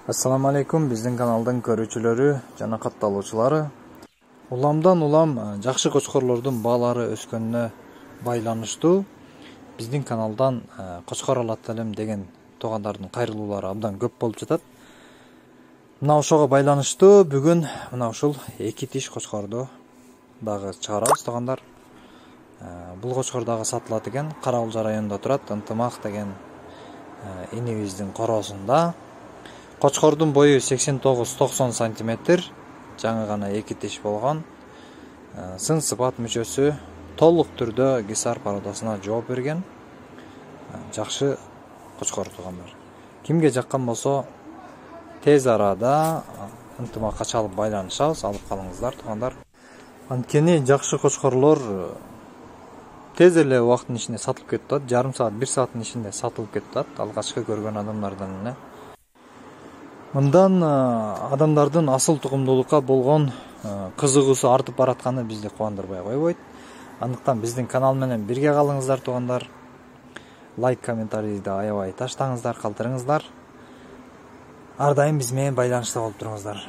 Ассаламу алейкум, биздин каналдын көрүүчүлөрү жана катталуучулары. Уламдан улам жакшы кочкорлордун баалары өскөнүнө байланыштуу биздин каналдан кочкор алат элем деген туугандардын кайрылуулары абдан көп болуп жатат. Мына ошого байланыштуу бүгүн мына ушул эки тиш кочкорду дагы чыгарабыз туугандар. Бул кочкор дагы сатылат экен. Кара Кулжа районунда турат, Ынтымак деген инибиздин короосунда. Кочкордун бою 89-90 сантиметр, жаңы гана эки тиш болгон. Сын сыпат мүчөсү толук түрдө гисар породасына жооп берген. Жакшы кочкор туугандар. Кимге жаккан болсо тез арада Ынтымакка чалып байланышабыз, алып калыңыздар туугандар. Анткени жакшы кочкорлор тез эле убакыттын ичинде сатылып кетип атат. Жарым саат, 1 сааттын ичинде сатылып кетип атат. Алгачкы көргөн адамдардан эле. Мындан адамдардын асыл тугумдуулукка болгон кызыгуусу артып баратканы бизди кубандырбай койбойт. Андыктан биздин канал менен бирге калыңыздар туугандар. Лайк, комментарийди аябай таштаңыздар, калтырыңыздар. Ар дайым биз менен байланышта болуп туруңуздар.